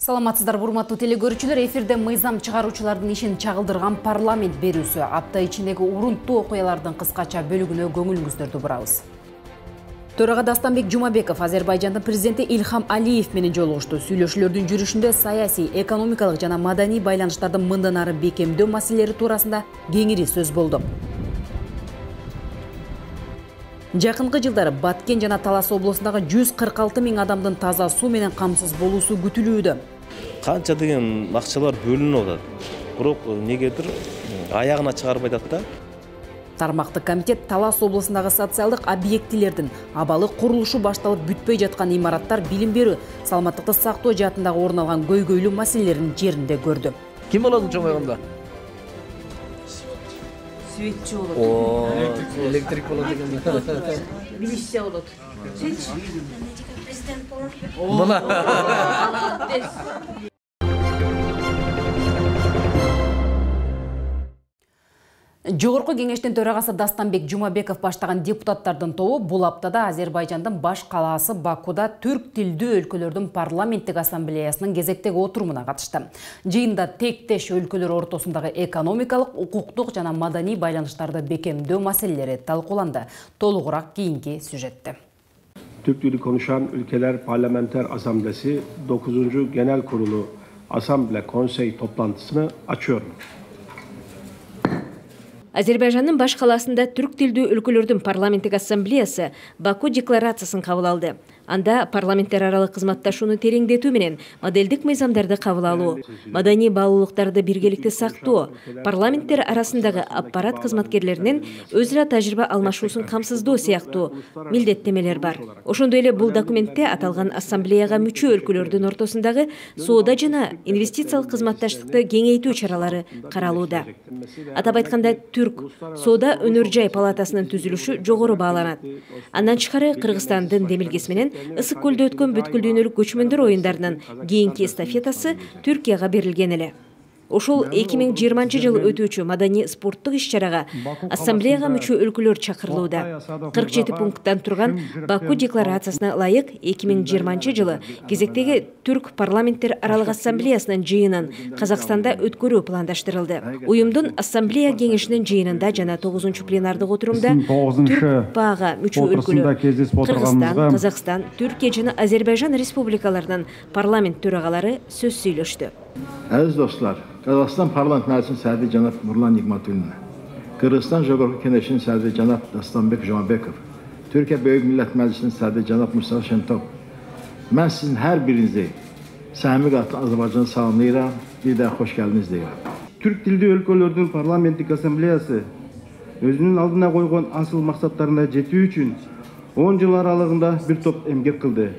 Саламатсыздар, урматтуу телекөрүүчүлөр. Эфирде мыйзам чыгаруучулардын ишин чагылдырган парламент берүүсү. Апта ичиндеги урунттуу окуялардын кыскача бөлүгүнө көңүлүңүздөрдү бурабыз. Төрага Дастанбек Жумабеков Азербайжандын президенти Ильхам Алиев менен жолугушту. Сүйлөшүүлөрдүн жүрүшүндө саясий, экономикалык жана маданий байланыштарды мындан ары бекемдөө маселелери туурасында кеңири сөз болду. Жакынкы жылдары Баткен жана Талас облусундагы 146 000 адамдын таза суу менен камсыз болуусу күтүлүүдө. Канча деген акчалар бөлүнүп атат. Бирок негедир аягына чыгарбай атат да. Тармактык комитет Талас облусундагы социалдык объектилердин абалы курулушу башталып бүтпөй жаткан имараттар, билим берүү, саламаттыкты сактоо жаатындагы орун алган көйгөйлүү маселелерин жеринде көрдү. Ким болот чоңойгондо? Светчи болот. Электрик болот экен. Милиция болот. Президент болот. Жогорку кеңештин төрагасы Дастанбек Жумабеков баштаган депутаттардын тобу бул аптада Азербайжандын баш калаасы Бакуда түрк тилдүү өлкөлөрдүн парламенттик ассамблеясынын кезектеги отурумуна катышты. Жыйында тектеш өлкөлөр ортосундагы экономикалык, укуктук жана маданий байланыштарды бекемдөө маселелери талкууланды. Толугураак кийинки сюжетте. Türk dili konuşan ülkeler parlamenter asamblesi 9. Genel Kurulu Asamble Konsey toplantısını açıyorum. Азербайжандын баш калаасында түрк тилдүү өлкөлөрдүн парламенттик ассамблеясы Баку декларациясын кабыл алды. Анда парламенттер аралык кызматташууну тереңдетүү менен моделдик мыйзамдарды кабыл алуу, маданий баалуулуктарды биргеликте сактоо, парламенттер арасындагы аппарат кызматкерлеринин өз ара тажрыйба алмашуусун камсыздоо сыяктуу милдеттемелер бар. Ошондой эле бул документте аталган ассамблеяга мүчө өлкөлөрдүн ортосундагы соода жана инвестициялык кызматташтыкты кеңейтүү чаралары каралууда. Атап айтканда, Түрк соода өнөр жай палатасынын түзүлүшү жогору бааланат. Андан тышкары Кыргызстандын демилгеси менен Ысык көлдө өткөн бүткүл дүйнөлүк көчмөндөр оюндарынын кийинки эстафетасы Түркияга берилген эле. Ошол 2020 жылы өтүүчү маданий спорттук иш-чарага ассамблеяга мүчө өлкөлөр чакырылууда. 47 пункттан турган Баку декларациясына ылайык 2020 жылы кезектеги түрк парламенттер аралык ассамблеясынын жыйынын Казакстанда өткөрүү пландаштырылды. Уюмдун ассамблея кеңешинин жыйынында жана 9 пленардык отурумда түрк пага мүчө өлкөлөр Кыргызстан, Казакстан, Түркия жана Азербайжан республикаларынын парламент төрагалары сөз сүйлөштү. Aziz dostlar, Kazakistan Parlament Meclisi'nin sədri cənab Nurlan Nigmatulline, Kırgızstan Jogorku Keneşinin sədri cənab Dastanbek Jumabekov, Türkiye Böyük Millət Meclisi'nin sədri cənab Mustafa Şentop, mən sizin hər birinizi səmimi qatlı Azərbaycanı salamlayıram, bir də xoş gəldiniz deyirəm. Türk dildi өлкөлөрдүн парламенттик ассамблеясы өзүнүн алдына койгон асыл максаттарына жетүү үчүн 10 жыл аралыгында бир топ эмгек кылды.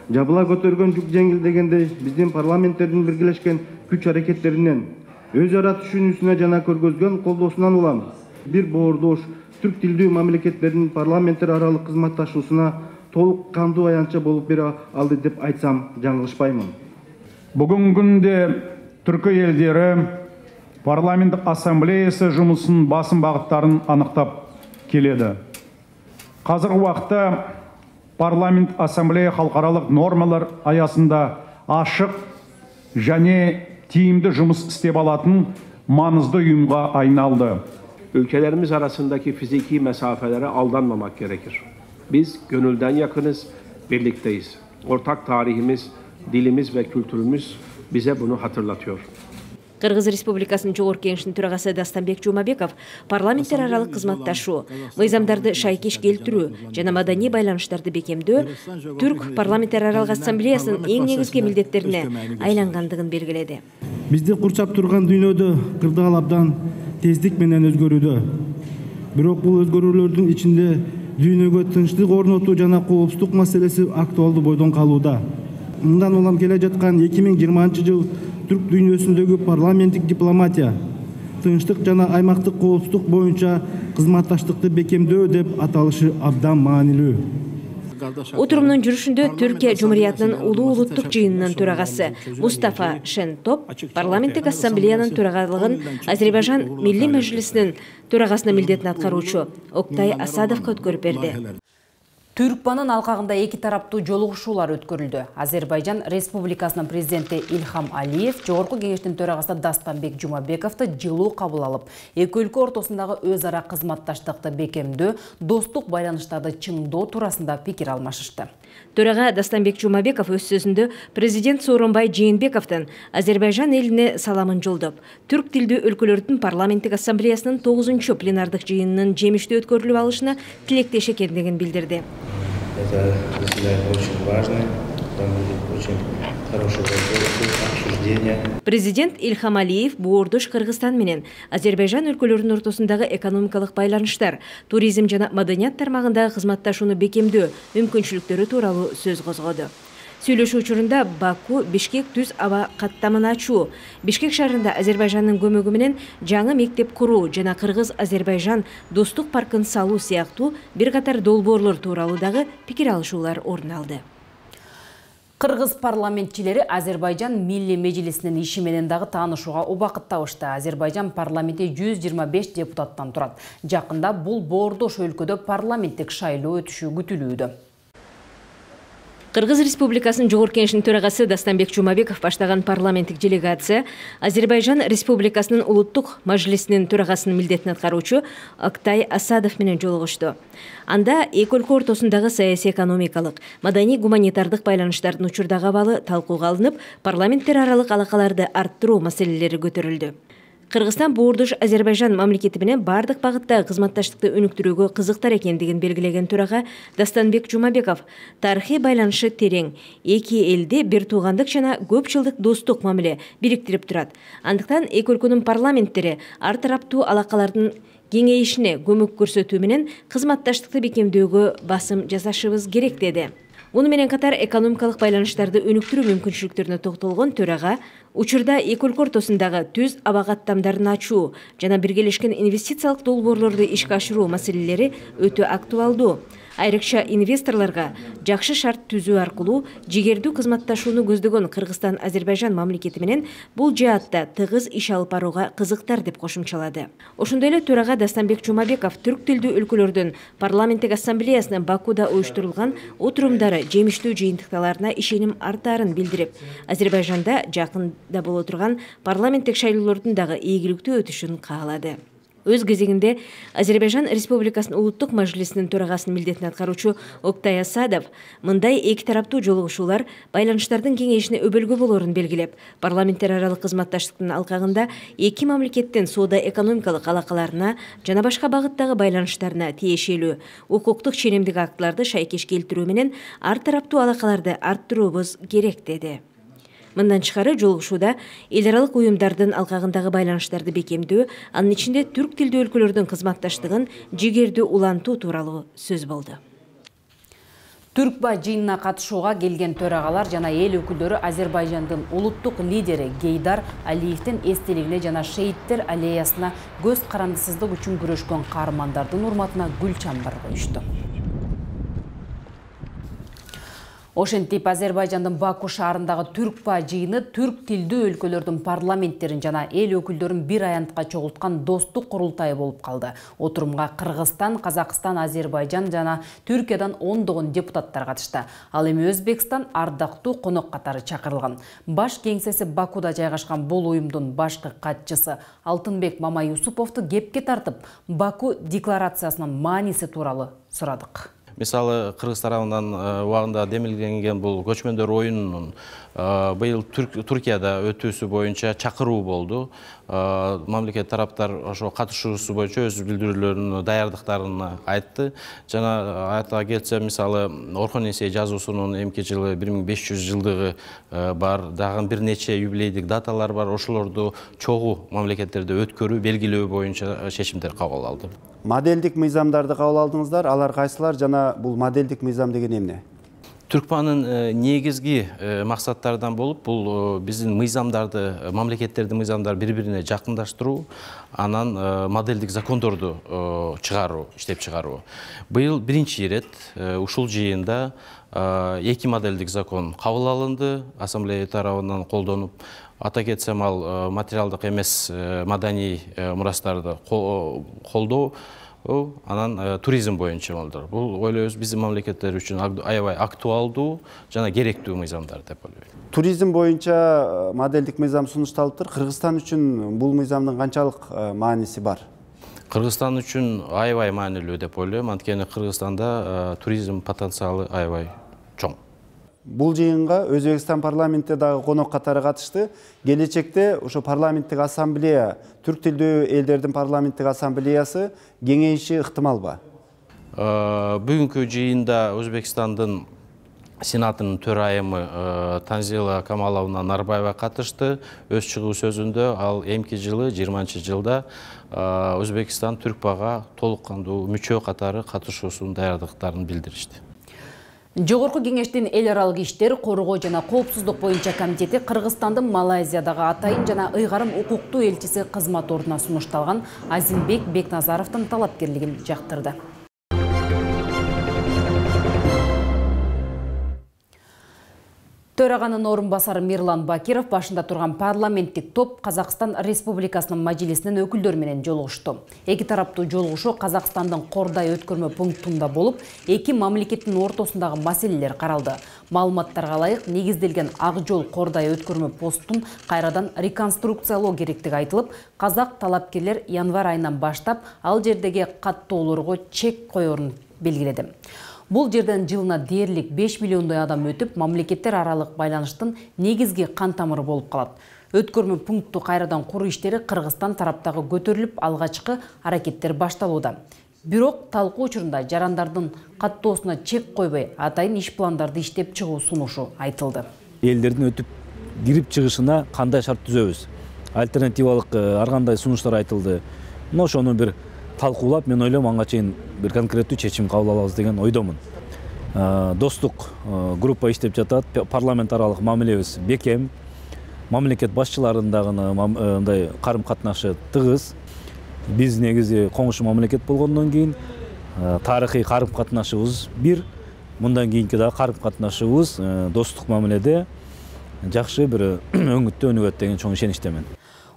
Жабыла көтөргөн жүк жеңил дегендей, биздин парламенттердин биргелешкен күч аракеттеринен, өз ара түшүнүүсүнө жана көргөзгөн колдоосунан улам бир боордош түрк тилдүү мамлекеттердин парламенттер аралык кызматташуусуна толук кандуу аянтча болуп бере алды деп айтсам жаңылышпаймын. Бүгүнкү күндө түркү элдери парламенттик ассамблеясы жумусунун басым багыттарын аныктап келеді. Казыркы убакта парламент ассамблея халыкаралык нормалар аясында ашык және тиімді жұмыс істеп алатын маңызды ұйымға айналды. Ülkelerimiz arasındaki fiziki mesafelere aldanmamak gerekir. Biz gönülden yakınız, birlikteyiz. Ortak tarihimiz, dilimiz ve kültürümüz bize bunu hatırlatıyor. Кыргыз Республикасынын Жогорку кеңешинин төрагасы Дастанбек Жумабеков парламенттер аралык кызматташуу, мыйзамдарды шайкеш келтирүү жана маданий байланыштарды бекемдөө түрк парламенттер аралык ассамблеясынын эң негизги милдеттерине айлангандыгын белгиледи. Бизди курчап турган дүйнөдө кырдаал абдан тездик менен өзгөрүүдө. Бирок бул өзгөрүүлөрдүн ичинде дүйнөгө тынчтык орнотуу жана коопсуздук маселеси актуалдуу бойдон калууда. Мындан улам келе жаткан 2020 жыл түрк дүйнөсүндөгү парламенттик дипломатия, тынчтык жана аймактык коопсуздук боюнча кызматташтыкты бекемдөө деп аталышы абдан маанилүү. Отурумдун жүрүшүндө Түркия Жумуриятынын улуу улуттук жыйынынын төрагасы Мустафа Шентоп парламенттик ассамблеянын төрагалыгын Азербайжан Милли Мәжлисинин төрагасынын милдетин аткаруучу Октай Асадовго өткөрүп берди. Түркбанын алкагында эки тараптуу жолугушуулар өткөрүлдү. Азербайжан Республикасынын президенти Ильхам Алиев Жогорку кеңештин төрагасы Дастанбек Жумабековду жылуу кабыл алып, эки өлкө ортосундагы өз ара кызматташтыкты бекемдөө, достук байланыштарды чыңдоо туурасында пикир алмашышты. Төрага Дастанбек Жумабеков өз сөзүндө президент Сооронбай Жээнбековдун Азербайжан элине саламын жолдоп, түрк тилдүү өлкөлөрдүн парламенттик ассамблеясынын 9-чу пленардык жыйынынын жемиштүү өткөрүлүп алышына тилектеш экендигин билдирди. Это заседание очень важное, там будет очень хорошее обсуждение. Президент Ильхам Алиев Боордош Кыргызстан менен Азербайжан өлкөлөрүнүн ортосундагы экономикалык байланыштар, туризм жана маданият тармагындагы кызматташууну бекемдөө мүмкүнчүлүктөрү тууралуу сөз козгоду. Сүйлөшүү учурунда Баку Бишкек түз аба каттамын ачуу, Бишкек шаарында Азербайжандын көмөгү менен жаңы мектеп куруу жана Кыргыз-Азербайжан достук паркын салуу сыяктуу бир катар долбоорлор тууралуу дагы пикир алышуулар орун алды. Кыргыз парламентчилери Азербайжан Милли Мejlisинин иши менен дагы таанышууга убакыт табышты. Азербайжан парламенти 125 депутаттан турат. Жакында бул боордош өлкөдө парламенттик шайлоо өтүшү күтүлүүдө. Кыргыз Республикасынын Жогорку кеңешинин төрагасы Дастанбек Жумабеков баштаган парламенттик делегация Азербайжан Республикасынын улуттук мажлисинин төрагасынын милдетин аткаруучу Октай Асадов менен жолугушту. Анда эки өлкө ортосундагы саясий экономикалык, маданий гуманитардык байланыштардын учурдагы абалы талкууга алынып, парламенттер аралык алакаларды арттыруу маселелери көтөрүлдү. Кыргызстан Боордош Азербайжан мамлекети менен бардык багыттагы кызматташтыкты өнүктүрүүгө кызыктар экендигин белгилеген төрага Дастанбек Жумабеков тарыхый байланышы терең, эки элди бир туугандык жана көп жылдык достук мамиле бириктирип турат. Андыктан эки өлкөнүн парламенттери ар тараптуу алакалардын кеңейишине көмөк көрсөтүү менен кызматташтыкты бекемдөөгө басым жасашыбыз керек деди. Муну менен катар экономикалык байланыштарды өнүктүрүү мүмкүнчүлүктөрүнө токтолгон төрага учурда эки өлкө ортосундагы түз аба каттамдарын ачуу жана биргелешкен инвестициялык долбоорлорду ишке ашыруу маселелери өтө актуалдуу. Айрыкча инвесторлорго жакшы шарт түзүү аркылуу жигердүү кызматташууну көздөгөн Кыргызстан Азербайжан мамлекети менен бул жаатта тыгыз иш алып барууга кызыктар деп кошумчалады. Ошондой эле төрага Дастанбек Жумабеков түрк тилдүү өлкөлөрдүн парламенттик ассамблеясынын Бакуда уюштурулган отурумдары жемиштүү жыйынтыкталарына ишеним артаарын билдирип, Азербайжанда жакында боло турган парламенттик шайлоолордун дагы ийгиликтүү өтүшүн каалады. Өз кезегинде Азербайжан Республикасынын улуттук мажлисинин төрагасынын милдетин аткаруучу Октай Асадов мындай эки тараптуу жолугушуулар байланыштардын кеңейишине өбөлгө болорун белгилеп, парламенттер аралык кызматташтыктын алкагында эки мамлекеттин соода-экономикалык алакаларына жана башка багыттагы байланыштарына тиешелүү укуктук ченемдик актыларды шайкеш келтирүү менен ар тараптуу алакаларды арттыруубуз керек деди. Мындан тышкары жолугушууда эл аралык уюмдардын алкагындагы байланыштарды бекемдөө, анын ичинде түрк тилдүү өлкөлөрдүн кызматташтыгын жигердүү улантуу тууралуу сөз болду. Түркба жыйынына катышууга келген төрагалар жана эл өкүлдөрү Азербайжандын улуттук лидери Гейдар Алиевдин эстелигине жана шейиттер аллеясына көз карандысыздык үчүн күрөшкөн каармандардын урматына гүл чамбар коюшту. Ошентип Азербайжандын Баку шаарындагы Түркба жыйыны түрк тилдүү өлкөлөрдүн парламенттерин жана эл өкүлдөрүн бир аянтка чогулткан достук курултай болуп калды. Отурумга Кыргызстан, Казакстан, Азербайжан жана Түркиядан ондогон депутаттар катышты. Ал эми Өзбекстан ардактуу конок катары чакырылган. Баш кеңсеси Бакуда жайгашкан бул уюмдун башкы катчысы Алтынбек Мамаюсуповду кепке тартып, Баку декларациясынын мааниси тууралуу сурадык. Мисалы, Кыргыз тарабынан убагында демилгенген бул көчмөндөр оюнунун быйыл Түркияда өтүүсү боюнча чакыруу болду. Мамлекет тараптар ошо катышуусу боюнча өз билдирүүлөрүнүн даярдыктарын айтты. Жана айта кетсе, мисалы, Орхон Эсей жазуусунун эмки жылы 1500 жылдыгы бар, дагы бир нече юбилейдик даталар бар. Ошолорду чогуу мамлекеттерде өткөрүү, белгилөө боюнча чечимдер кабыл алды. Модельдик мыйзамдарды кабыл алдыңыздар, алар кайсылар жана бул модельдик мыйзам деген эмне? Түркбанын негизги максаттардан болуп, бул биздин мыйзамдарды, мамлекеттердин мыйзамдары бири-бирине жакындаштыруу, анан модельдик закондорду чыгаруу, иштеп чыгаруу. Быйыл биринчи ирет ушул жыйында эки модельдик закон кабыл алынды, ассамблея тарабынан колдонуп. Ата кетсем, ал материалдык эмес маданий мурастарды колдоо анан туризм боюнча болду. Бул ойлойбуз биздин мамлекеттер үчүн аябай актуалдуу жана керектүү мыйзамдар деп ойлойм. Туризм боюнча моделдик мыйзам сунушталыптыр. Кыргызстан үчүн бул мыйзамдын канчалык мааниси бар? Кыргызстан үчүн аябай маанилүү деп ойлойм. Анткени Кыргызстанда туризм потенциалы аябай чоң. Бул жыйынга Өзбекстан парламенти дагы конок катары катышты. Келечекте ошо парламенттик ассамблея, түрк тилдүү элдердин парламенттик ассамблеясы кеңейиши ыктымалбы? Бүгүнкү жыйында Өзбекстандын Сенатынын төрайымы Танзила Камаловна Нарбаева катышты. Өз чыгуу сөзүндө ал эмки жылы 20-жылда Өзбекстан Түркпага толук кандуу мүчө катары катышуусунун даярдыктарын билдиришти. Жогорку кеңештин эл аралык иштер, коргоо жана коопсуздук боюнча комитети Кыргызстандын Малайзиядагы атайын жана ыйгарым укуктуу элчиси кызмат ордуна сунушталган Азимбек Бекназаровдун талапкерлигин жактырды. Төраганын орун басары Мирлан Бакиров башында турган парламенттик топ Казакстан Республикасынын мажилисинин өкүлдөрү менен жолугушту. Эки тараптуу жолугушуу Казакстандын Кордай өткөрмө пунктунда болуп, эки мамлекеттин ортосундагы маселелер каралды. Маалыматтарга ылайык, негизделген Ак жол Кордай өткөрмө постун кайрадан реконструкциялоо керектиги айтылып, казак талапкерлер январь айынан баштап ал жердеги каттоолорго чек коерун белгиледи. Бул жерден жылына дээрлик 5 миллиондой адам өтүп, мамлекеттер аралык байланыштын негизги кан тамыры болуп калат. Өткөрмө пунктту кайрадан куруу иштери Кыргызстан тараптагы көтөрүлүп, алгачкы аракеттер башталууда. Бирок талкуу учурунда жарандардын каттоосуна чек койбой, атайын иш пландарды иштеп чыгуу сунушу айтылды. Элдердин өтүп кирип чыгышына кандай шарт түзөбүз? Альтернативалык ар кандай сунуштар айтылды. Ошону бир талкуулап, мен ойлойм аңга чейин бир конкреттүү чечим кабыл алабыз деген ойдомун. Достук группа иштеп жатат, парламент аралык мамилебиз бекем, мамлекет башчыларынын дагы мындай карым катнашы тыгыз. Биз негизи коңшу мамлекет болгондон кийин тарыхый карым катнашыбыз бир, мындан кийинки дагы карым катнашыбыз достук мамиледе жакшы бир өңүттө өнүгөт деген чоң ишеничтемин.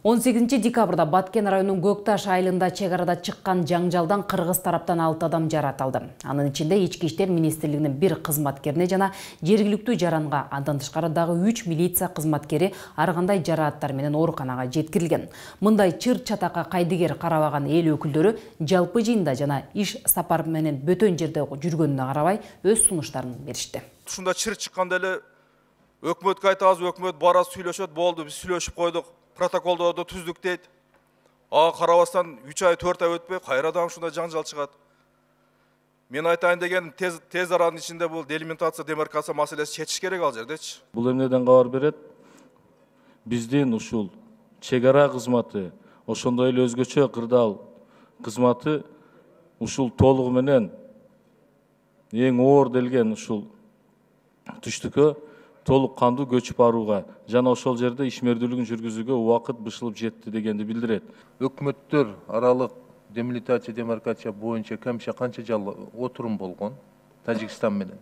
18 декабрда Баткен районунун Көкташ айылында чек арада чыккан жаңжалдан кыргыз тараптан 6 адам жаратылды. Анын ичинде Ички иштер министрлигинин 1 кызматкерине жана жергиликтүү жаранга, андан тышкары дагы 3 милиция кызматкери ар кандай жарааттар менен ооруканага жеткирилген. Мындай чыр чатакка кайдыгер карабаган эл өкүлдөрү жалпы жыйында жана иш сапар менен бөтөн жерде жүргөнүнө карабай өз сунуштарын беришти. Ушунда чыр чыкканда эле өкмөткө айтабыз, өкмөт бара сүйлөшөт, болду, биз сүйлөшүп койдук. Протоколдорду түздүк дейт. Ага карабастан 3 ай 4 ай өтпөй кайрадан ушундай жаңжал чыгат. Мен айтайын деген тез аранын ичинде бул делимитация, демаркация маселеси чечиш керек ал жердечи. Бул эмнеден кабар берет? Биздин ушул чек ара кызматы, ошондой эле өзгөчө кырдаал кызматы ушул толугу менен эң оор делген ушул түштүккө толук кандуу көчүп барууга жана ошол жерде ишмердүүлүгүн жүргүзүүгө убакыт бышылып жетти дегенди билдирет. Өкмөттөр аралык демилитация, демаркация боюнча кемше канча жыл отурум болгон Тажикстан менен.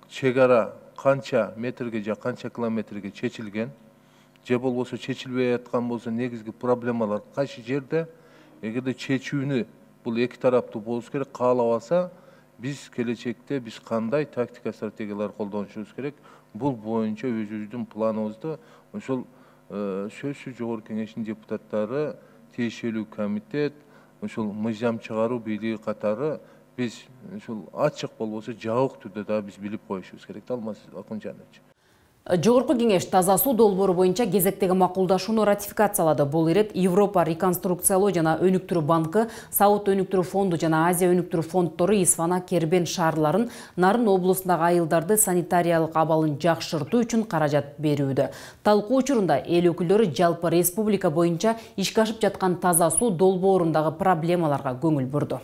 Чек ара канча метрге же канча километрге чечилген, же болбосо чечилбей аткан болсо негизги проблемалар кайсы жерде? Эгерде чечүүнү бул эки тараптуу болуш керек, каалабаса биз келечекте биз кандай тактика стратегиялар колдонушубуз керек? Бул боюнча өзүбүздүн планыбызды ошол сөзсүз жогорку кеңештин депутаттары, тиешелүү комитет, ошол мыйзам чыгаруу бийлиги катары биз ошол ачык болбосо жабык түрдө да биз билип коюшубуз керек. Алмаз Акунжанович. Жогорку кеңеш таза суу долбоору боюнча кезектеги макулдашууну ратификациялады. Бул ирет Европа реконструкциялоо жана өнүктүрүү банкы, Сауд өнүктүрүү фонду жана Азия өнүктүрүү фонддору Исфана, Кербен шаарларын, Нарын облусундагы айылдарды санитариялык абалын жакшыртуу үчүн каражат берүүдө. Талкуу учурунда эл өкүлдөрү жалпы республика боюнча ишке ашып жаткан таза суу долбоорундагы проблемаларга көңүл бурду.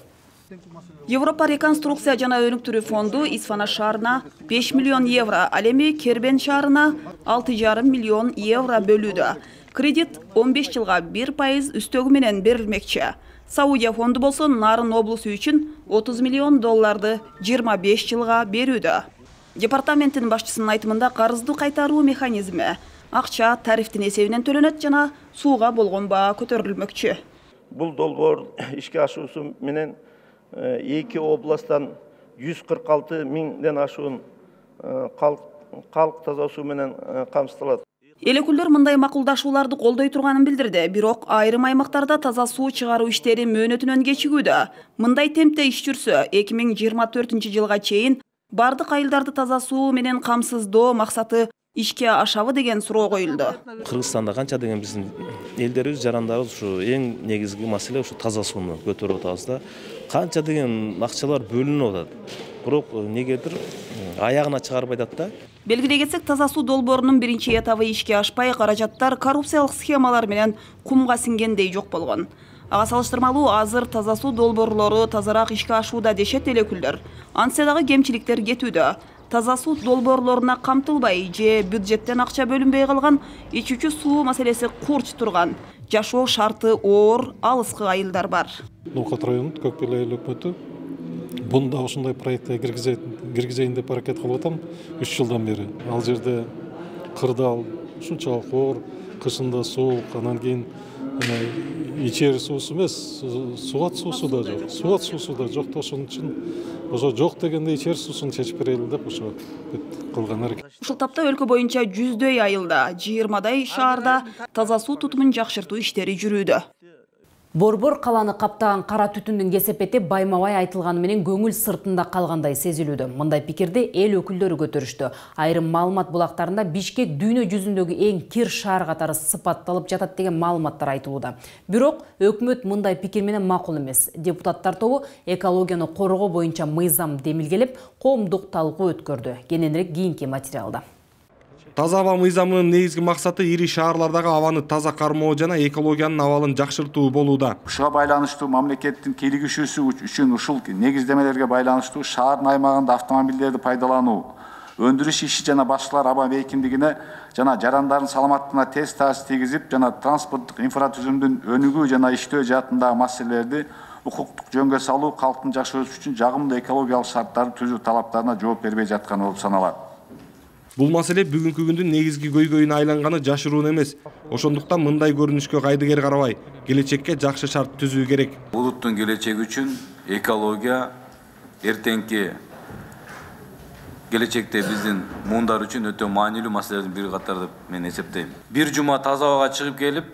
Европа реконструкция жана өнүктүрүү фонду Исфана шаарына 5 миллион евро, ал эми Кербен шаарына 6,5 миллион евро бөлүүдө. Кредит 15 жылга 1% үстөгү менен берилмекчи. Саудия фонду болсо Нарын облусу үчүн 30 миллион долларды 25 жылга берүүдө. Департаменттин башчысынын айтымында карызды кайтаруу механизми акча тарифтин эсебинен төлөнөт жана сууга болгон баа көтөрүлмөкчү. Бул долбоор ишке ашуусу менен 2 областтан 146 миңден ашуун калк таза суу менен камсыздалат. Эл өкүлдөр мындай макулдашууларды колдой турганын билдирди. Бирок айрым аймактарда таза суу чыгаруу иштери мөөнөтүнөн кечигүүдө. Мындай темпте иш жүрсө, 2024 жылга чейин бардык айылдарды таза суу менен камсыздоо максаты ишке ашабы деген суроо коюлду. Кыргызстанда канча деген биздин элдерибиз, жарандарыбыз ушу эң негизги маселе ушу таза сууну көтөрүп атабыз да. Канча деген акчалар бөлүнүп атат. Бирок негедир аягына чыгарбай атат да. Белгилей кетсек, таза суу долбоорунун биринчи этабы ишке ашпай, каражаттар коррупциялык схемалар менен кумга сиңгендей жок болгон. Ага салыштырмалуу азыр таза суу долбоорлору тазараак ишке ашууда дешет эл өкүлдөр. Антса дагы кемчиликтер кетүүдө. Таза суу долбоорлоруна камтылбай же бюджеттен акча бөлүнбөй калган, ичүүчү суу маселеси курч турган, жашоо шарты оор, алыскы айылдар бар. Ноокат районунун Көкбел айыл өкмөтү бунда ушундай проектке киргизейин деп аракет кылып атам 3 жылдан бери. Ал жерде кырдаал ушунчалык оор, кышында суук, анан кийин ичер суусу эмес, сугат суусу да жок. Сугат суусу да жок, ошон үчүн ошо жок дегенде ичер суусун чечип берели деп ошо кылган аракет. Ушул тапта өлкө боюнча 100дөй айылда, 20дай шаарда таза суу тутумун жакшыртуу иштери жүрүүдө. Борбор каланы каптаган кара түтүндүн кесепети байма-бай айтылганы менен көңүл сыртында калгандай сезилүүдө. Мындай пикирди эл өкүлдөрү көтөрүштү. Айрым маалымат булактарында Бишкек дүйнө жүзүндөгү эң кир шаар катары сыпатталып жатат деген маалыматтар айтылууда. Бирок өкмөт мындай пикир менен макул эмес. Депутаттар тобу экологияны коргоо боюнча мыйзам демилгелеп, коомдук талкуу өткөрдү. Кененирээк кийинки материалда. Таза аба мыйзамынын негизги максаты ири шаарлардагы абаны таза кармоо жана экологиянын абалын жакшыртуу болууда. Ушуга байланыштуу мамлекеттин кийлигишүүсү үчүн ушул негиздемелерге байланыштуу шаардын аймагында автомобилдерди пайдалануу, өндүрүш иши жана башкалар аба бейкиндигине жана жарандардын саламаттыгына терс таасир тийгизип, жана транспорттук инфратүзүмдүн өнүгүү жана иштөө жаатындагы маселелерди укуктук жөнгө салуу, калктын жашоосу үчүн жагымдуу экологиялык шарттарды түзүү талаптарына жооп бербей жатканы болуп саналат. Бул маселе бүгүнкү күндүн негизги көйгөйүнө айланганы жашыруун эмес. Ошондуктан мындай көрүнүшкө кайдыгер карабай, келечекке жакшы шарт түзүү керек. Улуттун келечеги үчүн экология эртеңки келечекте биздин муундар үчүн өтө маанилүү маселелердин бири катары деп мен эсептейм. Бир жума таза абага чыгып келип,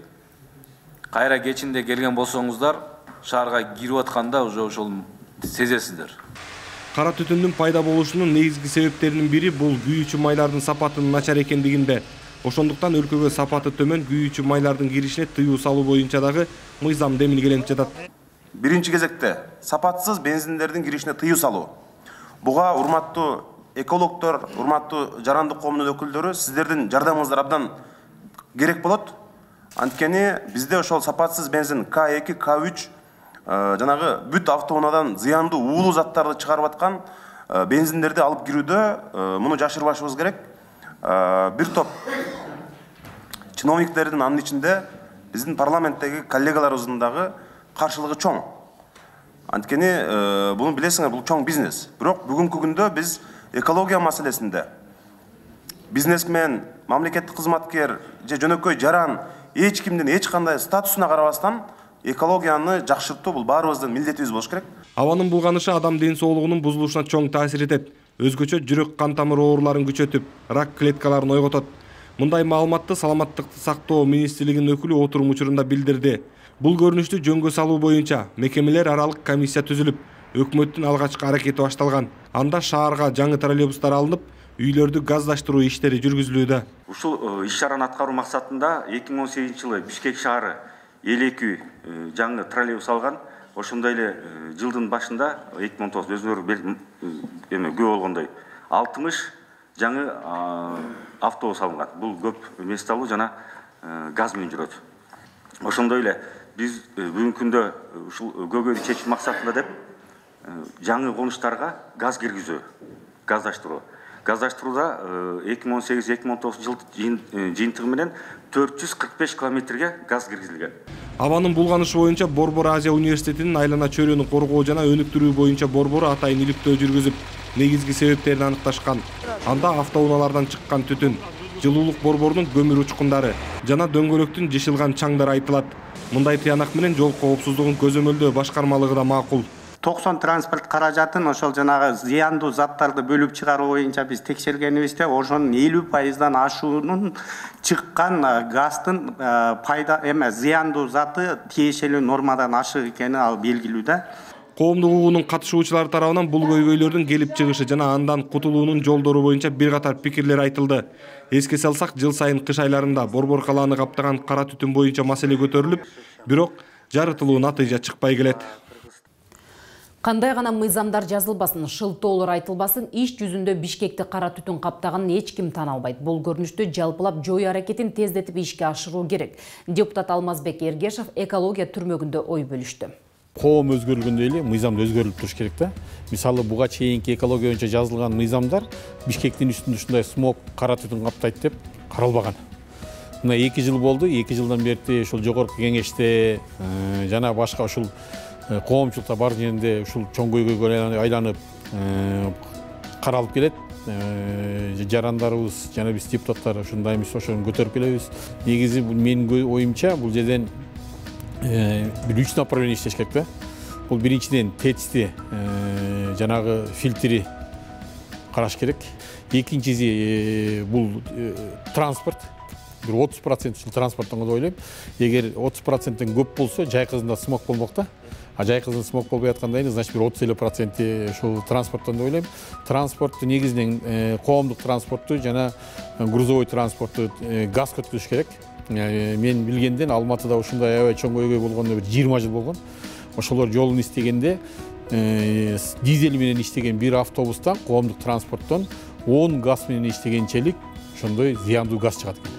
кайра кечинде келген болсоңуздар, шаарга кирип атканда уже ошол сезесиздер. Кара түтүндүн пайда болушунун негизги себептеринин бири бул күйүүчү майлардын сапатынын начар экендигинде. Ошондуктан өлкөгө сапаты төмөн күйүүчү майлардын киришине тыюу салуу боюнча дагы мыйзам демилгеленип жатат. Биринчи кезекте сапатсыз бензиндердин киришине тыюу салуу. Буга урматтуу экологдор, урматтуу жарандык коомдун өкүлдөрү, сиздердин жардамыңыздар абдан керек болот. Анткени бизде ошол сапатсыз бензин К2, К3 жанагы бүт автоунаадан зыяндуу уулуу заттарды чыгарып аткан бензиндерди алып кирүүдө муну жашырбашыбыз керек. Бир топ чиновниктердин анын ичинде биздин парламенттеги коллегаларыбыздын дагы каршылыгы чоң. Анткени буну билесиңер, бул чоң бизнес. Бирок бүгүнкү күндө биз экология маселесинде бизнесмен, мамлекеттик кызматкер же жөнөкөй жаран эч кимдин эч кандай статусуна карабастан экологияны жакшыртуу бул баарыбыздын милдетибиз болуш керек. Абанын булганышы адам ден соолугунун бузулушуна чоң таасир этет. Өзгөчө жүрөк кан тамыр ооруларын күчөтүп, рак клеткаларын ойготот. Мындай маалыматты Саламаттыкты сактоо министрлигинин өкүлү отурум учурунда билдирди. Бул көрүнүштү жөнгө салуу боюнча мекемелер аралык комиссия түзүлүп, өкмөттүн алгачкы аракети башталган. Анда шаарга жаңы троллейбустар алынып, үйлөрдү газдаштыруу иштери жүргүзүлүүдө. Ушул иш-чараны аткаруу максатында 2018 жылы Бишкек шаары 52 жаңы троллейбус алган. Ошондой эле жылдын башында 2019 өзүңөр күбө болгондой 60 жаңы автобус алынган. Бул көп мест алуу жана газ менен жүрөт. Ошондой эле биз бүгүнкү күндө ушул көйгөйдү чечүү максатында деп жаңы конуштарга газ киргизүү, газдаштыруу. Газдаштырууда 2018-2019 жыл жыйынтыгы менен 445 километрге газ киргизилген. Абанын булганышы боюнча Борбор Азия университетинин айлана чөйрөнү коргоо жана өнүктүрүү боюнча борбору атайын иликтөө жүргүзүп, негизги себептерин аныкташкан. Анда автоунаалардан чыккан түтүн, жылуулук борборунун көмүр учкундары жана дөңгөлөктүн жышылган чаңдары айтылат. Мындай тыянак менен жол коопсуздугун көзөмөлдөө башкармалыгы да макул. 90 транспорт каражатын ошол жанагы зыяндуу заттарды бөлүп чыгаруу боюнча биз текшергенибизде ошонун 50%дан ашуунун чыккан газдын пайда зыяндуу заты тиешелүү нормадан ашык экени ал белгилүү да. Коомдук угуунун катышуучулары тарабынан бул көйгөйлөрдүн келип чыгышы жана андан кутулуунун жолдору боюнча бир катар пикирлер айтылды. Эске салсак, жыл сайын кыш айларында борбор калааны каптаган кара түтүн боюнча маселе көтөрүлүп, бирок жарытылуу натыйжа чыкпай келет. Кандай гана мыйзамдар жазылбасын, шылтоолор айтылбасын, иш жүзүндө Бишкекти кара түтүн каптаганын эч ким тана албайт. Бул көрүнүштү жалпылап жою аракетин тездетип ишке ашыруу керек. Депутат Алмазбек Эргешев экология түрмөгүндө ой бөлүштү. Коом өзгөрүлгөндөй эле мыйзам да өзгөрүлүп туруш керек да. Мисалы буга чейинки экология боюнча жазылган мыйзамдар Бишкектин үстүндө ушундай смог, кара түтүн каптайт деп каралбаган. Мына 2 жыл болду, 2 жылдан бери ушул жогорку кеңеште жана башка ушул коомчулукта бар жеринде ушул чоң көйгөйгө айланып каралып келет. Жарандарыбыз жана биз депутаттар ушундаймыз, ошону көтөрүп келебиз. Негизи бул менин оюмча бул жерден бир 3 направление иштеш керек да. Бул биринчиден ТЭЦти жанагы фильтри караш керек. Экинчиси бул транспорт. Бир 30% ушул транспорттон деп ойлойм. Эгер 30%тен көп болсо, жайкызында смог болмок да. А жайкызында смог болбой аткандай, значит бир 30% ушул транспорттон деп ойлойм. Транспортту негизинен коомдук транспортту жана грузовой транспортту газ өткүзүш керек. Мен билгенден Алматыда ушундай аябай чоң көйгөй болгондо бир 20 жыл болгон. Ошолор жолун истегенде дизель менен иштеген бир автобустан, коомдук транспорттон 10 газ менен иштегенчелик ошондой зыяндуу газ чыгат экен.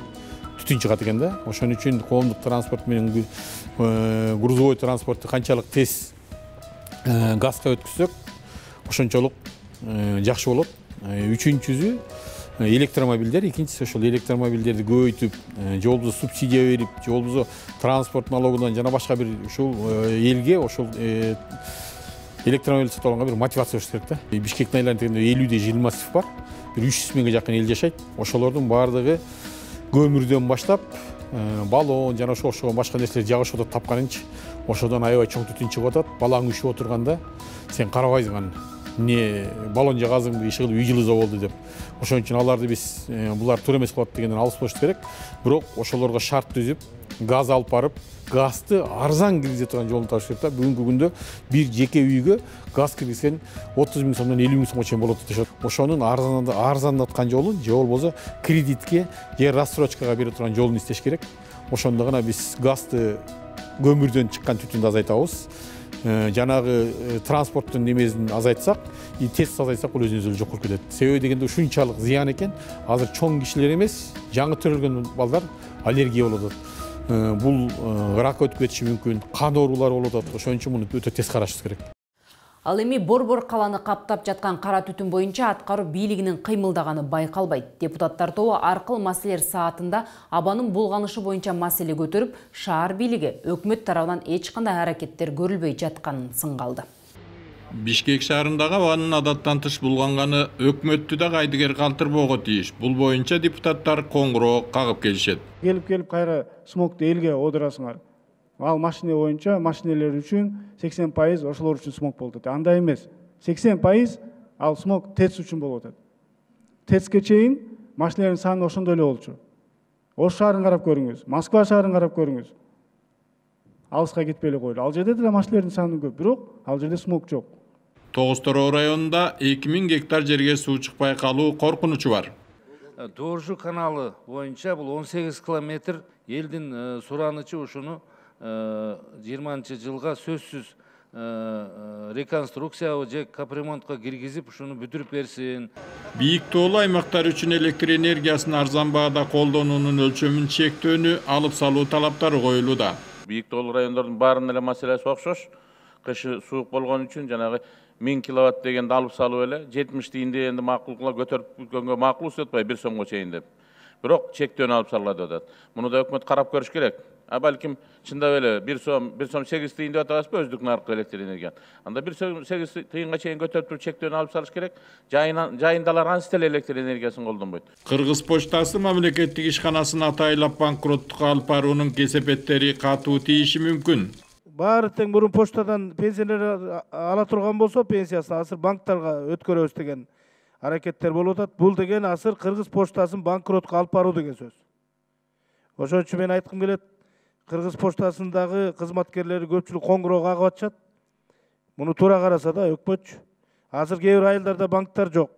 Түтүн чыгат экен да. Ошон үчүн коомдук транспорт менен грузовой транспортту канчалык тез газга өткүзсөк, ошончолук жакшы болот. Үчүнчүсү электромобилдер, экинчиси ошол электромобилдерди көбөйтүп, жолбузу субсидия берип, жолбузу транспорт налогунан жана башка бир ушул элге ошол электромобиль сатып алганга бир мотивация бериш керек да. Бишкектин айланып 50 жыл массив бар. Бир 300 миңге жакын эл жашайт. Ошолордун баардыгы көмүрдөн баштап баллон жана ошого башка нерселер жагышып атат тапканынчы. Ошодон аябай чоң түтүн чыгып атат. Балаң үшүп отурганда сен карабайсың аны. Не баллон жагазыңбы, иши кылып үй жылуу болду деп. Ошон үчүн аларды биз булар туура эмес болот дегенден алыс болуш керек. Бирок ошолорго шарт түзүп, газ алып барып, газды арзан киргизе турган жолун табыш керек да. Бүгүнкү күндө бир жеке үйгө газ киргизген 30 миң сомдон 50 миң сомго чейин болот дешет. Ошонун арзандаткан жолун, же болбосо кредитке, же рассрочкага бере турган жолун иштеш керек. Ошондо гана биз газды көмүрдөн чыккан түтүндү азайтабыз. Жанагы транспорттун немесин азайтсак, тез азайтсак, бул өзүнөн өзү жок болуп кетет. Себеби дегенде ушунчалык зыян экен. Азыр чоң кишилер эмес, жаңы төрөлгөн балдар аллергия болуп атат. Бул рак өтүп кетиши мүмкүн, кан оорулары болуп атат. Ошон үчүн муну өтө тез карашыбыз керек. Ал эми борбор калааны каптап жаткан кара түтүн боюнча аткаруу бийлигинин кыймылдаганы байкалбайт. Депутаттар тобу аркыл маселелер саатында абанын булганышы боюнча маселе көтөрүп, шаар бийлиги өкмөт тарабынан эч кандай аракеттер көрүлбөй жатканын сынга алды. Бишкек шаарындагы абанын адаттан тыш булганганы өкмөттү да кайдыгер калтырбоого тийиш. Бул боюнча депутаттар коңгуроо кагып келишет. Келип кайра смогду элге одурасыңар. Ал машина боюнча машинелер үчүн 80% ошолор үчүн смог болуп атат. Андай эмес. 80% ал смог ТЭЦ үчүн болуп атат. ТЭЦке чейин машинелердин саны ошондой эле болчу. Ош шаарын карап көрүңүз, Москва шаарын карап көрүңүз. Алыска кетпей эле койлу. Ал жерде деле машинелердин саны көп, бирок ал жерде смог жок. Тогуз Тороо районунда 2000 гектар жерге суу чыкпай калуу коркунучу бар. Доржу каналы боюнча бул 18 километр элдин суранычы ушуну 20-жылга сөзсүз реконструкция же капремонтко киргизип ушуну бүтүрүп берсин. Бийик тоолуу аймактар үчүн электр энергиясын арзан баада колдонуунун өлчөмүн чектөөнү алып салуу талаптары коюлууда. Бийик тоолуу райондордун баарынын эле маселеси окшош. Кышы суук болгон үчүн жанагы 1000 киловатт дегенди алып салып эле 70 тиинди энди макулгула көтөрүп бүткөнгө макул өтпөй 1 сомго чейин деп. Бирок чектөөнү алып салат атат. Муну да өкмөт карап көрүш керек. Балким чындап эле 1 сом 8 тыйын деп атабызбы өздүк наркы электр энергияны. Анда 1 сом 8 тыйынга чейин көтөрүп туруп чектөөнү алып салыш керек. Жайындалар анча деле электр энергиясын колдонбойт. Кыргыз почтасы мамлекеттик ишканасын атайлап банкроттукка алып баруунун кесепеттери катуу тийиши мүмкүн. Баары тең мурун почтадан пенсиялар ала турган болсо пенсиясын азыр банктарга өткөрөбүз деген аракеттер болуп атат. Бул деген азыр Кыргыз почтасын банкротко алып баруу деген сөз. Ошон үчүн мен айткым келет, Кыргыз почтасындагы кызматкерлери көпчүлүк коңгуроо кагып атышат. Муну туура караса да өкмөтчү. Азыр кээ бир айылдарда банктар жок.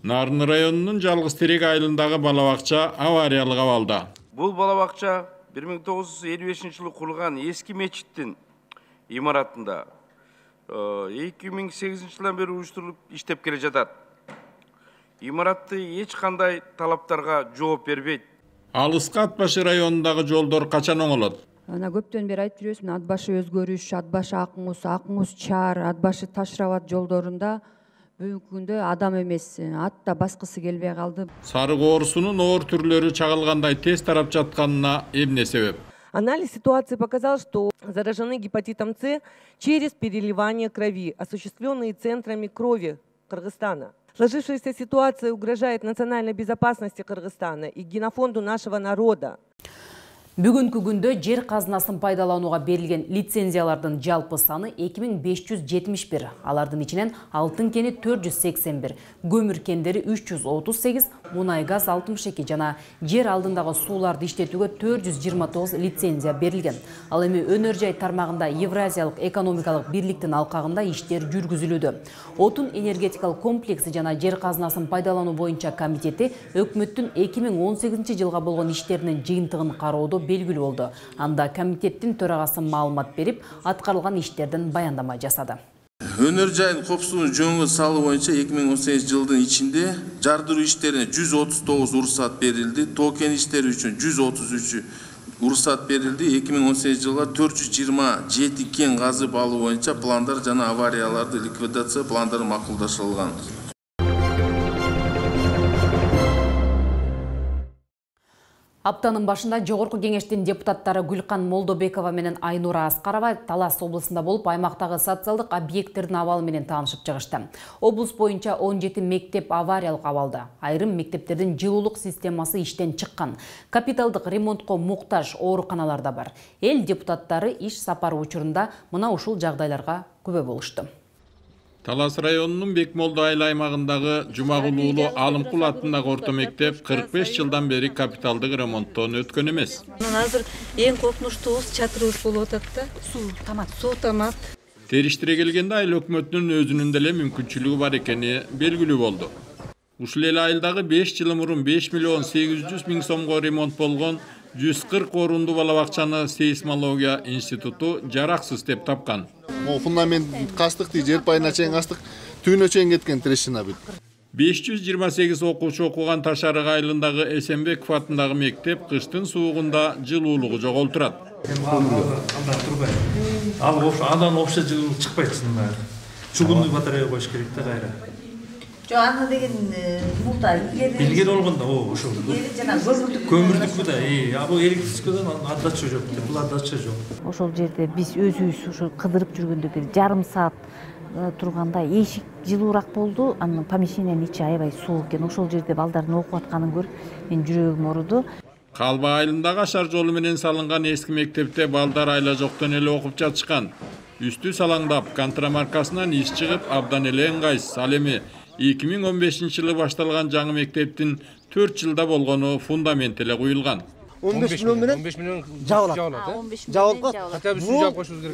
Нарын районунун Жалгыз Терек айылындагы бала бакча авариялык абалда. Бул бала бакча 1955-жылы курулган эски мечиттин имаратында 2008-жылдан бери уюштурулуп иштеп келе жатат. Имаратты эч кандай талаптарга жооп бербейт. Алыска Ат башы районундагы жолдор качан оңолот? Ана көптөн бери айтып жүрөбүз, Ат башы өзгөрүш, Ат башы Акмуз чаар, Ат башы Ташрабат жолдорунда бүгүнкү күндө адам эмес, ат да баскысы келбей калды. Сары коорусунун оор түрлөрү чагылгандай тез тарап жатканына эмне себеп? Анализ ситуации показал, что заражены гепатитом С через переливание крови, осуществленные центрами крови Кыргызстана. Сложившаяся ситуация угрожает национальной безопасности Кыргызстана и генофонду нашего народа. Бүгүнкү күндө жер казынасын пайдаланууга берилген лицензиялардын жалпы саны 2571. Алардын ичинен алтын кени 481, көмүр кендери 338, мунай газ 62 жана жер алдындагы сууларды иштетүүгө 429 лицензия берилген. Ал эми өнөр жай тармагында Евразиялык экономикалык бирликтин алкагында иштер жүргүзүлүүдө. Отун энергетикалык комплекси жана жер казынасын пайдалануу боюнча комитети өкмөттүн 2018 жылга болгон иштеринин жыйынтыгын кароодо белгилүү болду. Анда комитеттин төрагасы маалымат берип, аткарылган иштерден баяндама жасады. Өнөр жайын коопсуздугун жөнгө салуу боюнча 2018 жылдын ичинде жардыруу иштерине 139 уруксат берилди, тоо кен иштери үчүн 133 уруксат берилди. 2018 жылга 427 кен казып алуу боюнча пландар жана аварияларды ликвидация пландары макулдашылган. Аптанын башында Жогорку кеңештин депутаттары Гүлкан Молдобекова менен Айнура Аскарова Талас облусунда болуп, аймактагы социалдык объекттердин абалы менен таанышып чыгышты. Облус боюнча 17 мектеп авариялык абалда. Айрым мектептердин жылуулук системасы иштен чыккан. Капиталдык ремонтко муктаж ооруканалар да бар. Эл депутаттары иш сапары учурунда мына ушул жагдайларга күбө болушту. Талас районунун Бекмолду айыл аймагындагы Жумагулуулу Алымкул аттындагы орто мектеп 45 жылдан бери капиталдык ремонттон өткөн эмес. Азыр эң коркунучтуубуз чатырыбыз болуп атат да. Суу тамак. Териштире келгенде айыл өкмөтүнүн өзүнүн деле мүмкүнчүлүгү бар экени белгилүү болду. Ушул эле айылдагы 5 жыл мурун 5 миллион 800 миң сомго ремонт болгон 140 орунду бала бакчаны сейсмология институту жараксыз деп тапкан. Фундамент кастык, жер пайына чейин кастык, түйүнө чейин кеткен трещина бүт. 528 окуучу окуган Ташарык айылындагы Эсенбеков аттындагы мектеп кыштын суугунда жылуулугу жоголтурат. Андан вообще жылуулук чыкпайт чынында. Чугунный батарея коюш керек да кайра. Аны деген мурда илгери болгондо ошол көмүрдүкпү да, бул электрическийден отдача жок, бул отдача жок. Ошол жерде биз өзүбүз ошо кыдырып жүргөндө бир жарым саат турганда эшик жылуураак болду, анын помещениянын ичи аябай суук экен. Ошол жерде балдардын окуп атканын көрүп мен жүрөгүм ооруду. Калба айылындагы ашар жолу менен салынган эски мектепте балдар айла жоктон эле окуп жатышкан. Үстү салаңдап, контрамаркасынан иш чыгып, абдан эле ыңгайсыз. Ал эми 2015 жылы башталган жаңы мектептин 4 жылда болгону фундамент эле куюлган. 15 миллион жабылат. Жабылат.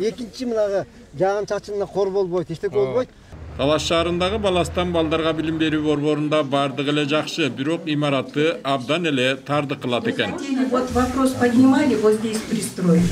Экинчи мынагы жаан чачынына кор болбойт, эчтеке болбойт. Талас шаарындагы Баластан балдарга билим берүү борборунда бардыгы эле жакшы, бирок имараты абдан эле тарды кылат экен. Вот вопрос поднимали, вот здесь пристроили.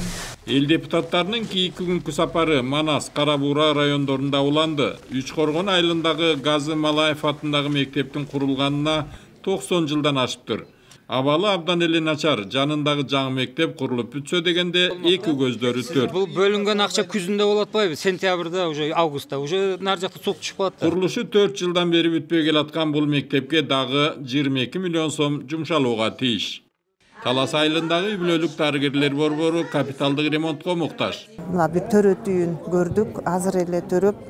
Эл депутаттарынын кийинки күнкү сапары Манас, Кара Буура райондорунда уланды. Үч Коргон айылындагы Газы Малаев аттындагы мектептин курулганына 90 жылдан ашыптыр. Абалы абдан эле начар, жанындагы жаңы мектеп курулуп бүтсө дегенде эки көздөрү төрт. Бул бөлүнгөн акча күзүндө болот атпайбы? Сентябрда, уже августта, уже нар жакта суу чыгып калат. Курулушу 4 жылдан бери бүтпөй келаткан бул мектепке дагы 22 миллион сом жумшалууга тийиш. Талас айылындагы үй бүлөлүк дарыгерлер борбору капиталдык ремонтко муктаж. Мына бир төрөтүүн көрдүк, азыр эле төрөп,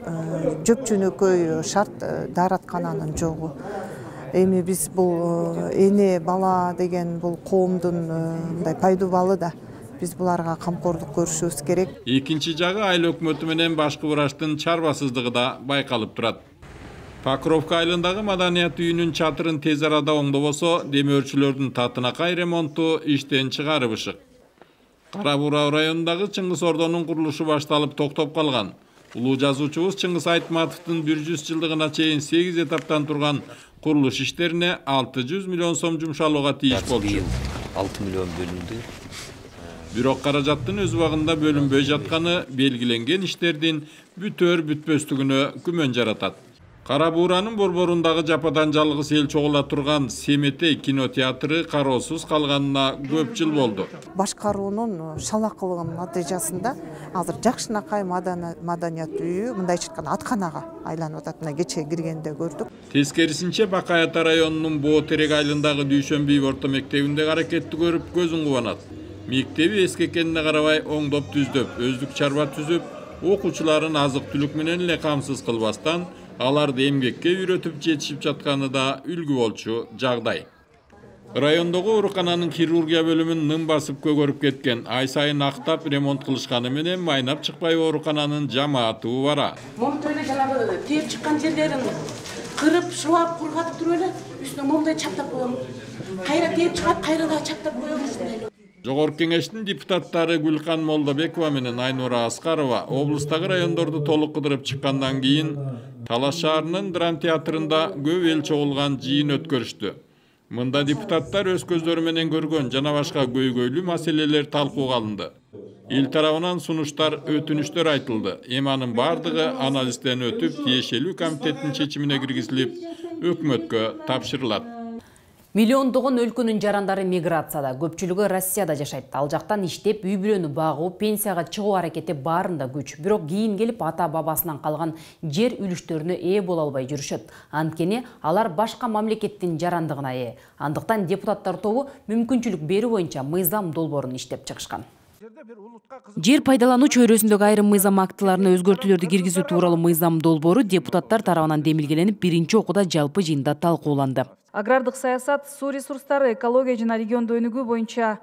жөп жөнөкөй шарт даараткананын жогу. Эми биз бул эне бала деген бул коомдун мындай пайдубалы да. Биз буларга камкордук көрүшүбүз керек. Экинчи жагы айыл өкмөтү менен башкы врачтын чарбасыздыгы да байкалып турат. Покровка айылындагы маданият үйүнүн чатырын тез арада оңдобосо, демөөрчүлөрдүн татынакай ремонту иштен чыгарып ышык. Кара Буура районундагы Чыңгыз Ордонун курулушу башталып токтоп калган. Улуу жазуучубуз Чыңгыз Айтматовдун 100 жылдыгына чейин 8 этаптан турган курулуш иштерине 600 миллион сом жумшалууга тийиш болчу. 6 миллион бөлүндү. Бирок каражаттын өз убагында бөлүнбөй жатканы белгиленген иштердин бүтөр бүтпөстүгүнө күмөн жаратат. Кара Бууранын борборундагы жападан жалгыз эл чогула турган Семетей кинотеатры кароосуз калганына көп жыл болду. Башкаруунун шалакылыгынын натыйжасында азыр жакшынакай маданият үйү мындай айтканда атканага айланып атат. Мына кечээ киргенде көрдүк. Тескерисинче Бакай Ата районунун Боо Терек айылындагы Дүйшөнбүй орто мектебинде аракетти көрүп көзүң кубанат. Мектеби эскекенине карабай оңдоп түздөп, өздүк чарба түзүп, окуучуларын азык-түлүк менен эле камсыз кылбастан, аларды эмгекке үйрөтүп жетишип жатканы да үлгү болчу жагдай. Райондогу оорукананын хирургия бөлүмүн ным басып көгөрүп кеткен, ай сайын актап ремонт кылышканы менен майнап чыкпай оорукананын жамааты убара. Момундай эле жанагы тээп чыккан жерлерин кырып, шыбап, кургатып туруп эле үстүнө момундай чаптап коем. Кайра тээп чыгат, кайра да чаптап коем ушундай. Жогорку кеңештин депутаттары Гүлкан Молдобекова менен Айнура Аскарова облустагы райондорду толук кыдырып чыккандан кийин Талас шаарынын драм театрында көп эл чогулган жыйын өткөрүштү. Мында депутаттар өз көздөрү менен көргөн жана башка көйгөйлүү маселелер талкууга алынды. Эл тарабынан сунуштар, өтүнүштөр айтылды. Эми анын бардыгы анализден өтүп, тиешелүү комитеттин чечимине киргизилип, өкмөткө тапшырылат. Миллиондогон өлкөнүн жарандары миграцияда, көпчүлүгү Россияда жашайт. Ал жактан иштеп, үй бүлөнү багуу, пенсияга чыгуу аракети баарында күч. Бирок кийин келип ата-бабасынан калган жер үлүштөрүнө ээ боло албай жүрүшөт. Анткени алар башка мамлекеттин жарандыгына ээ. Андыктан депутаттар тобу мүмкүнчүлүк берүү боюнча мыйзам долбоорун иштеп чыгышкан. Жер пайдалануу чөйрөсүндөгү айрым мыйзам актыларына өзгөртүүлөрдү киргизүү тууралуу мыйзам долбоору депутаттар тарабынан демилгеленип, биринчи окууда жалпы жыйында талкууланды. Агрардык саясат, суу ресурстары, экология жана региондуу өнүгүү боюнча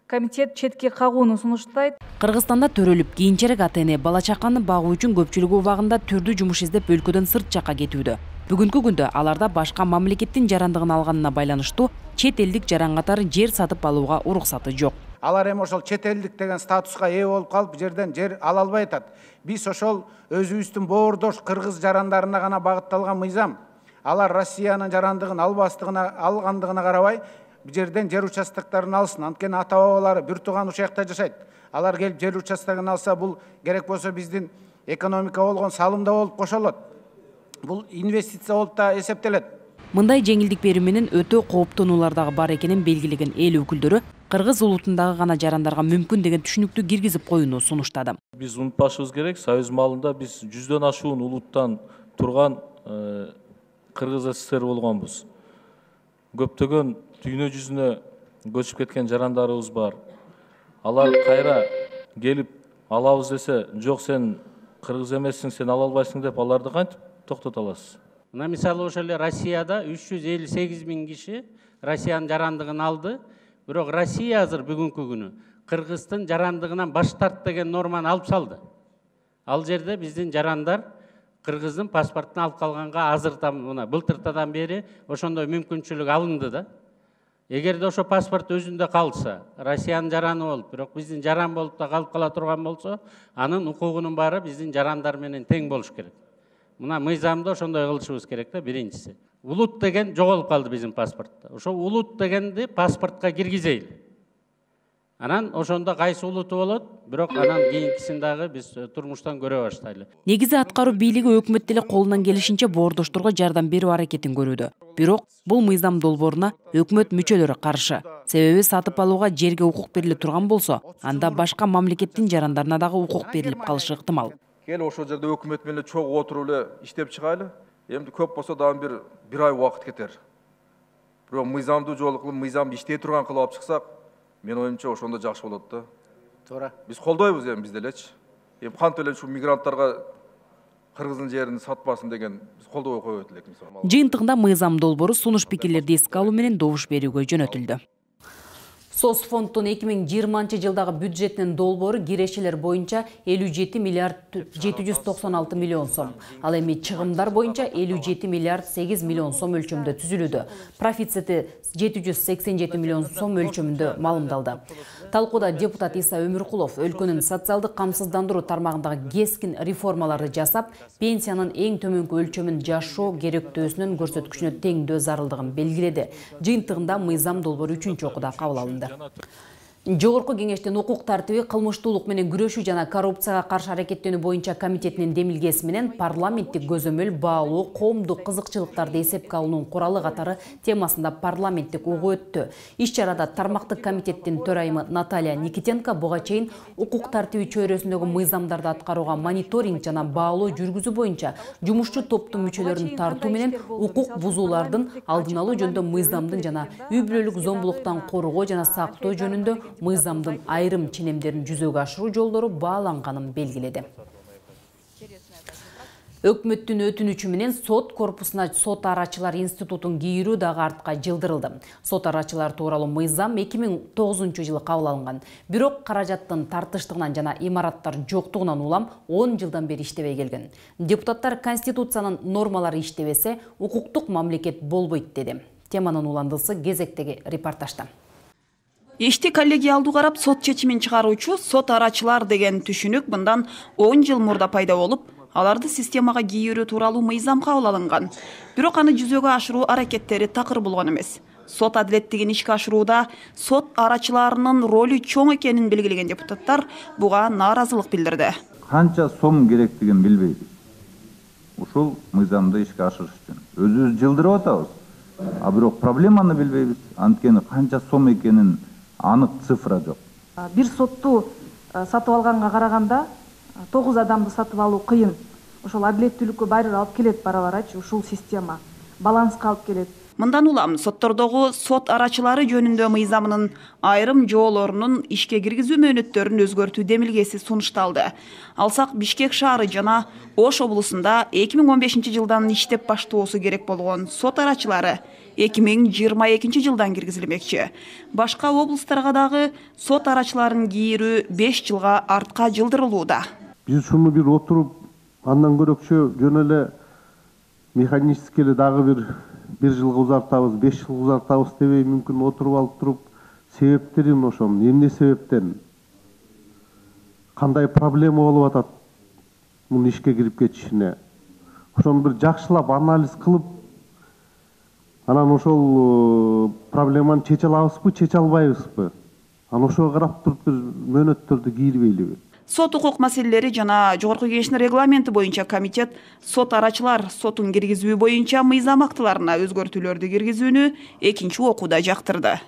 комитет четке кагууну сунуштайт. Кыргызстанда төрөлүп, кийинчерээк ата-эне бала чаканы багуу үчүн көпчүлүгү убагында түрдүү жумуш издеп өлкөдөн сырт жакка кетүүдө. Бүгүнкү күндө аларда башка мамлекеттин жарандыгын алганына байланыштуу чет элдик жаран катары жер сатып алууга уруксаты жок. Алар эми ошол чет элдик деген статуска ээ болуп калып, жерден жер ала албай атат. Биз ошол өзүбүздүн боордош кыргыз жарандарына гана багытталган мыйзам. Алар Россиянын жарандыгын алгандыгына карабай, бу жерден жер участокторун алсын. Анткени ата-бабалары бир тууган ушул жакта жашайт. Алар келип жер участогун алса, бул керек болсо биздин экономика болгон салымда болуп кошолот. Бул инвестиция болуп да эсептелет. Мындай жеңилдик берүү менен өтө кооптонуулар дагы бар экенин белгилеген эл өкүлдөрү кыргыз улутундагы гана жарандарга мүмкүн деген түшүнүктү киргизип коюуну сунуштады. Биз унутпашыбыз керек, Союз маалында биз 100дөн ашуун улуттан турган Кыргыз СССР болгонбуз. Көптөгөн дүйнө жүзүнө көчүп кеткен жарандарыбыз бар. Алар кайра келип алабыз десе, жок сен кыргыз эмессиң, сен ала албайсың деп аларды кантип токтото аласыз? Мына мисалы ошол эле Россияда 358 000 киши Россиянын жарандыгын алды. Бирок Россия азыр бүгүнкү күнү Кыргыздын жарандыгынан баш тарт деген норманы алып салды. Ал жерде биздин жарандар Кыргыздын паспортун алып калганга азырдан мына былтыртадан бери ошондой мүмкүнчүлүк алынды да. Эгерде ошо паспорт өзүндө калса, Россиянын жараны болуп, бирок биздин жаран болуп да калып кала турган болсо, анын укугунун баары биздин жарандар менен тең болуш керек. Мына мыйзамды ошондой кылышыбыз керек да, биринчиси. Улут деген жоголуп калды биздин паспортто. Ошо улут дегенди паспортко киргизейли. Анан ошондо кайсы улуту болот, бирок анан кийинкисин дагы биз турмуштан көрө баштайлы. Негизи аткаруу бийлиги өкмөт деле колунан келишинче боордошторго жардам берүү аракетин көрүүдө. Бирок бул мыйзам долбооруна өкмөт мүчөлөрү каршы. Себеби сатып алууга жерге укук бериле турган болсо, анда башка мамлекеттин жарандарына дагы укук берилип калышы ыктымал. Кел ошол жерде өкмөт менен чогуу отуруп эле иштеп чыгайлы. Эми көп болсо дагы бир ай убакыт кетер. Бирок мыйзамдуу жолу кылып, мыйзамды иштей турган кылып алып чыксак, Мен оюмча ошондо жакшы болот да. Туура. Биз колдойбуз эми биз делечи. Эми кантип эле ушу мигранттарга кыргыздын жерин сатпасын деген биз колдобой коебуз элек мисалы. Жыйынтыгында мыйзам долбоору сунуш пикирлерди эске алуу менен добуш берүүгө жөнөтүлдү. Соцфонддун 2020 жылдагы бюджетинин долбоору кирешелер боюнча 57 миллиард 796 миллион сом. Ал эми чыгымдар боюнча 57 миллиард 8 миллион сом өлчөмүндө түзүлүүдө. Профицити 787 миллион сом өлчөмүндө маалымдалды. Талкууда депутат Иса Өмүркулов өлкөнүн социалдык камсыздандыруу тармагындагы кескин реформаларды жасап, пенсиянын эң төмөнкү өлчөмүн жашоо керектөөсүнүн көрсөткүчүнө теңдөө зарылдыгын белгиледи. Жыйынтыгында мыйзам долбоору 3-окууда кабыл алынды. Жогорку кеңештин укук тартиби, кылмыштуулук менен күрөшүү жана коррупцияга каршы аракеттенүү боюнча комитетинин демилгеси менен парламенттик көзөмөл баалуу коомдук кызыкчылыктарды эсепке алуунун куралы катары темасында парламенттик угуу өттү. Иш-чарада тармактык комитеттин төрайымы Наталья Никитенко буга чейин укук тартиби чөйрөсүндөгү мыйзамдарды аткарууга мониторинг жана баалоо жүргүзүү боюнча жумушчу топтун мүчөлөрүн тартуу менен укук бузуулардын алдын алуу жөнүндө мыйзамдын жана үй бүлөлүк зомбулуктан коргоо жана сактоо жөнүндө мыйзамдын айрым ченемдерин жүзөгө ашыруу жолдору бааланганын белгиледи. Өкмөттүн өтүнүчү менен сот корпусуна сот арачылар институтун кийирүү дагы артка жылдырылды. Сот арачылар тууралуу мыйзам 2009 жылы кабыл алынган. Бирок каражаттын тартыштыгынан жана имараттар жоктугунан улам 10 жылдан бери иштебей келген. Депутаттар Конституциянын нормалары иштебесе, укуктук мамлекет болбойт деди. Теманын уландысы кезектеги репортажда. Ишти коллегиалдуу карап сот чечимин чыгаруучу сот арачылар деген түшүнүк мындан 10 жыл мурда пайда болуп, аларды системага кийирүү тууралуу мыйзам кабыл алынган. Бирок аны жүзөгө ашыруу аракеттери такыр болгон эмес. Сот адилеттигин ишке ашырууда сот арачыларынын ролу чоң экенин белгилеген депутаттар буга нааразылык билдирди. Канча сом керектигин билбейбиз. Ушул мыйзамды ишке ашырыш үчүн өзүбүз жылдырып атабыз. А бирок проблеманы билбейбиз. Анткени канча сом экенин анык цифра жок. Бир сотту сатып алганга караганда 9 адамды сатып алуу кыйын. Ошол адилеттүүлүккө баары алып келет бара-барачы ушул система. Баланска алып келет. Мындан улам соттордогу сот арачылары жөнүндө мыйзамынын айрым жоолорунун ишке киргизүү мөөнөттөрүн өзгөртүү демилгеси сунушталды. Алсак Бишкек шаары жана Ош облусунда 2015 жылдан иштеп баштоосу керек болгон сот арачылары 2022 жылдан киргизилмекчи. Башка облустарга дагы сот арачыларын кийирүү 5 жылга артка жылдырылууда. Биз ушуну бир отуруп, андан көрөкчө жөн эле механически эле дагы бир жылга узартабыз, 5 жылга узартабыз дебей мүмкүн отуруп алып туруп, себептерин ошонун эмне себептен кандай проблема болуп атат муну ишке кирип кетишине. Ошону бир жакшылап анализ кылып, анан ошол проблеманы чече алабызбы, чече албайбызбы? Анан ошого карап туруп бир мөөнөттөрдү кийирбейлиби? Сот укук маселелери жана Жогорку Кеңештин регламенти боюнча комитет сот арачылар сотун киргизүү боюнча мыйзам актыларына өзгөртүүлөрдү киргизүүнү 2-окууда жактырды.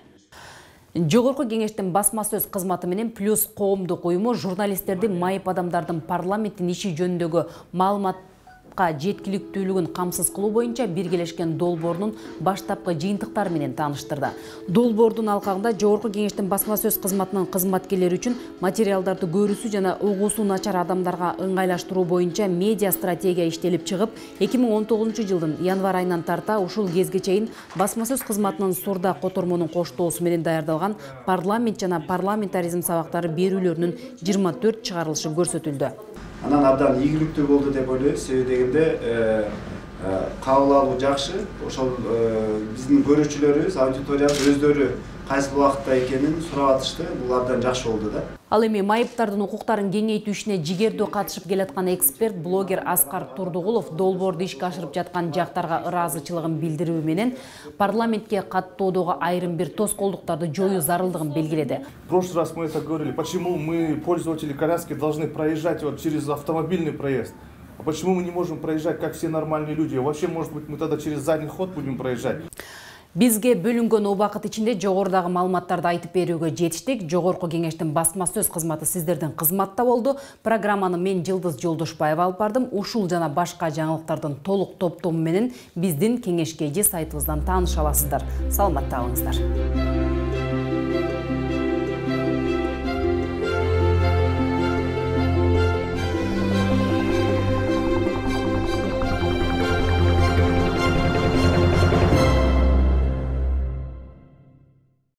Жогорку Кеңештин басма сөз кызматы менен Плюс коомдук уюму журналисттерди майып адамдардын парламенттин иши жөнүндөгү маалыматка жеткиликтүүлүгүн камсыз кылуу боюнча биргелешкен долбоорунун баштапкы жыйынтыктары менен тааныштырды. Долбоордун алкагында Жогорку Кеңештин басма сөз кызматынын кызматкерлери үчүн материалдарды көрүүсү жана угуусу начар адамдарга ыңгайлаштыруу боюнча медиа стратегия иштелип чыгып, 2019 жылдын январь айынан тарта ушул кезге чейин басма сөз кызматынын Сурда котормонун коштоосу менен даярдалган парламент жана парламентаризм сабактары берүүлөрүнүн 24 чыгарылышы көрсөтүлдү. Анан абдан ийгиликтүү болду деп ойлойбуз. Себеби дегенде кабыл алуу жакшы. Ошол биздин көрүүчүлөрүбүз, аудиториябыз өздөрү кайсы убакытта экенин сурап атышты. Бул абдан жакшы болду да. Ал эми майыптардын укуктарын кеңейтүү ишине жигердүү катышып келаткан эксперт блогер Аскар Турдугулов долбоорду ишке ашырып жаткан жактарга ыраазычылыгын билдирүү менен парламентке каттоодогу айрым бир тоскоолдуктарды жоюу зарылдыгын белгиледи. В прошлый раз мы это говорили, почему мы, пользователи коляски, должны проезжать вот через автомобильный проезд. А почему мы не можем проезжать, как все нормальные люди? Вообще, может быть, мы тогда через задний ход будем проезжать? Бизге бөлүнгөн убакыт ичинде жогорудагы маалыматтарды айтып берүүгө жетиштик. Жогорку Кеңештин басма сөз кызматы сиздердин кызматта болду. Программаны мен Жылдыз Жолдошбаева алып бардым. Ушул жана башка жаңылыктардын толук топтому менен биздин кеңешке же сайтыбыздан тааныша аласыздар. Саламатта калыңыздар.